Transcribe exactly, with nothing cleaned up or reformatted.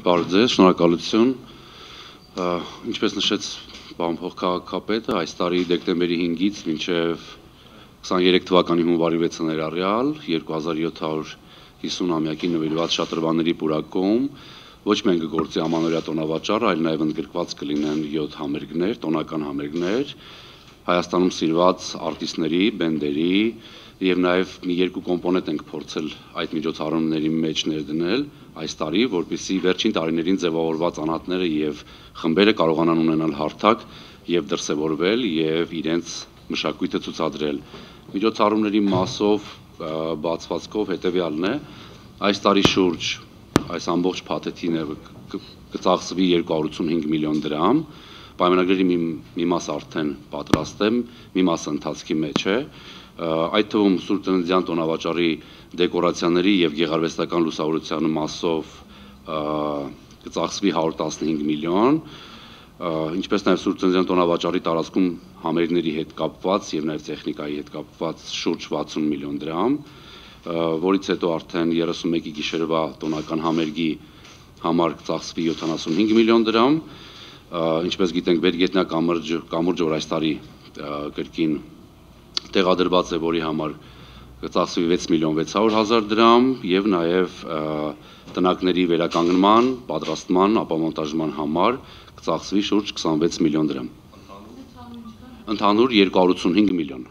Բարև ձեզ, շնորհակալություն։ Ինչպես նշեց պարոն փոխքաղաքապետը, այս տարի դեկտեմբերի հինգից մինչև քսաներեք թվականի հունվարի վեցը ներառյալ երկու հազար յոթ հարյուր հիսուն-ամյակին նվիրված շատրվանների պուրակում ոչ միայն կգործի ամանորյա տոնավաճառը, այլ նաև ընդգրկված կլինեն յոթ համերգներ, տոնական համերգներ, Հայաստանում սիրված արտիստների, բենդերի եւ նաեւ մի երկու կոմպոնենտ ենք փորձել այդ միջոցառումների մեջ ներդնել այս տարի, որպեսզի վերջին տարիներին ձևավորված անհատները եւ խմբերը կարողանան ունենալ հարթակ եւ դրսեւորվել եւ իրենց մշակույթը ցուցադրել։ Միջոցառումների մասով բացվածքով հետեւյալն է. այս տարի շուրջ այս ամբողջ փաթեթին կծախսվի երկու հարյուր ութսունհինգ միլիոն դրամ, պայմանագրերի մի, մի մաս արդեն պատրաստ է, մի մասը ընթացքի մեջ է, այդ թվում Սուրբ Ծննդյան տոնավաճառի դեկորացիաների եւ գեղարվեստական լուսավորության մասով կծախսվի հարյուր տասնհինգ միլիոն, ինչպես նաեւ Սուրբ Ծննդյան տոնավաճառի տարածքում համերգների հետ կապված եւ նաեւ տեխնիկայի հետ կապված շուրջ վաթսուն միլիոն դրամ, որից հետո արդեն երեսունմեկի գիշերվա տոնական համերգի համար կծախսվի յոթանասունհինգ միլիոն դրամ, ինչպես գիտենք Բերգետնյա կամուրջը, կամուրջը որ այս տարի կրկին տեղադրված է, որի համար կծախսվի վեց միլիոն վեց հարյուր հազար դրամ եւ նաեւ տնակների վերականգնման, պատրաստման, ապամոնտաժման համար կծախսվի շուրջ քսանվեց միլիոն դրամ։ Ընդհանուր երկու հարյուր ութսունհինգ միլիոն։